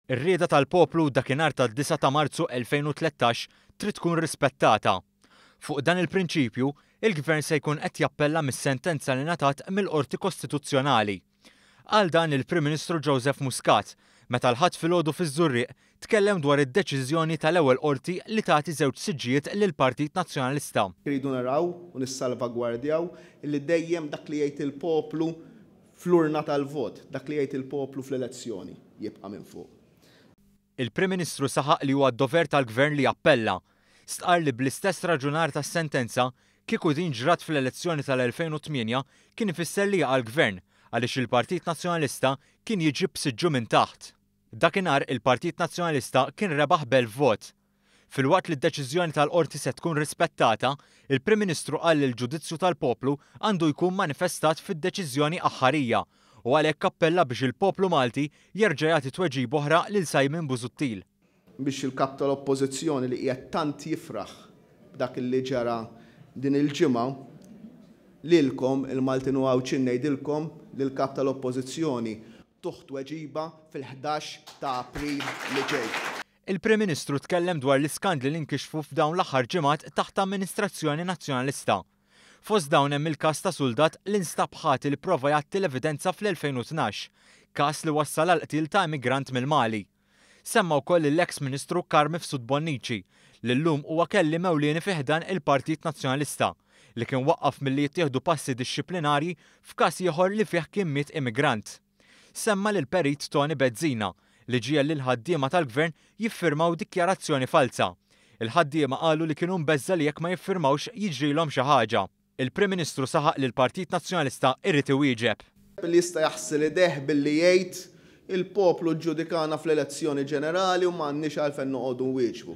Ir-rieda tal-poplu dakinhar tad-9 ta' Marzu 2013 trid tkun rispettata. Fuq dan il-prinċipju, il-Gvern se jkun qed jappella mis-sentenza li ngħatat mill-Qorti Kostituzzjonali. Qal dan il-Prim Ministru Joseph Muscat meta l-Ħadd filgħodu fiż-Żurrieq tkellem dwar id-deċiżjoni tal-ewwel Qorti li tagħti żewġ siġġijiet lill-Partit Nazzjonalista. Irridu naraw u nissalvagwardjaw illi dejjem dak li jgħid il-poplu fl-urna tal-vot, dak li jgħid il-poplu fl-elezzjoni jibqa' minn fuq. Il-Prim Ministru saħaq li huwa d-dover tal-Gvern li jappella. Stqarr li bl-istess raġunar tas-sentenza, kieku din ġrat fl-elezzjoni tal-2008 kien ifisser li jaqa' l-Gvern għaliex il-Partit Nazzjonalista kien jiġi b'siġġu minn taħt. Dakinhar il-Partit Nazzjonalista kien rebaħ b'elf vot. Filwaqt li d-deċiżjoni tal-Qorti se tkun rispettata, il-Prim Ministru qal li l-ġudizzju tal-poplu għandu jkun manifestat fid-deċiżjoni aħħarija u għalhekk appella biex il-poplu Malti jerġa' jagħti tweġiba oħra lil Simon Busuttil. Biex il-Kap tal-Oppożizzjoni li qiegħed tant jifraħ b'dak li ġara din il-ġimgħa, lilkom il-Maltin u Għawdxin ngħidilkom li l-Kap tal-Oppożizzjoni tuh tweġiba fil-11 ta' April li ġej. Il-Prim Ministru tkellem dwar l-iskandli li nkixfu f'dawn l-aħħar ġimgħat taħt amministrazzjoni Nazzjonalista. Fost dawn hemm il-każ ta' suldat li nstab ħati li pprova jgħatti l-evidenza fl-2012, każ li wassal għall-qtil ta' immigrant mill-Mali. Semma wkoll lill-eks Ministru Carm Mifsud Bonnici, li llum huwa kelliem ewlieni fi ħdan il-Partit Nazzjonalista, li kien waqqaf milli jittieħdu passi dixxiplinarji f'każ ieħor li fih kien miet immigrant. Semma lill-Perit Toni Bezzina, li ġiegħel lill-ħaddiema tal-Gvern jiffirmaw dikjarazzjoni falza. Il-ħaddiema qalu li kienu mbeżża' li jekk ma jiffirmawx jiġrilhom xi ħaġa. Il-Prim Ministru saħaq li l-Partit Nazzjonalista jrid iwieġeb. Li jista' jaħsel idejh billi jgħid, il-poplu ġġudikana fl-elezzjoni ġenerali u m'għandniex għalfejn noqogħdu nwieġbu.